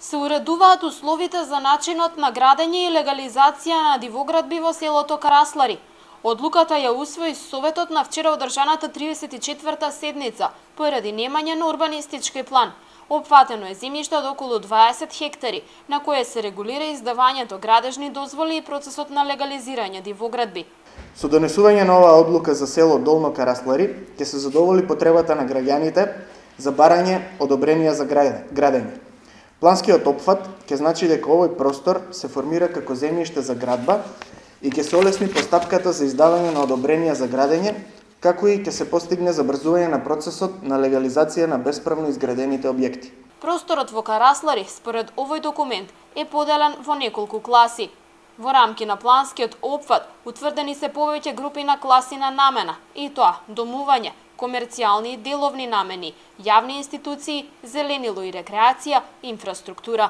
Се уредуваат условите за начинот на градење и легализација на дивоградби во селото Караслари. Одлуката ја усвои Советот на вчера одржаната 34-та седница поради немање на урбанистички план. Опфатено е земјиште од околу 20 хектари, на кое се регулира издавањето градежни дозволи и процесот на легализирање дивоградби. Со донесување на оваа одлука за село Долно Караслари ќе се задоволи потребата на граѓаните за барање одобренија за градење. Планскиот опфат ќе значи дека овој простор се формира како земјиште за градба и ќе се олесни постапката за издавање на одобренија за градење, како и ќе се постигне забрзување на процесот на легализација на бесправно изградените објекти. Просторот во Караслари, според овој документ, е поделен во неколку класи. Во рамки на планскиот опфат утврдени се повеќе групи на класи на намена, и тоа домување, комерцијални и деловни намени, јавни институции, зеленило и рекреација, инфраструктура.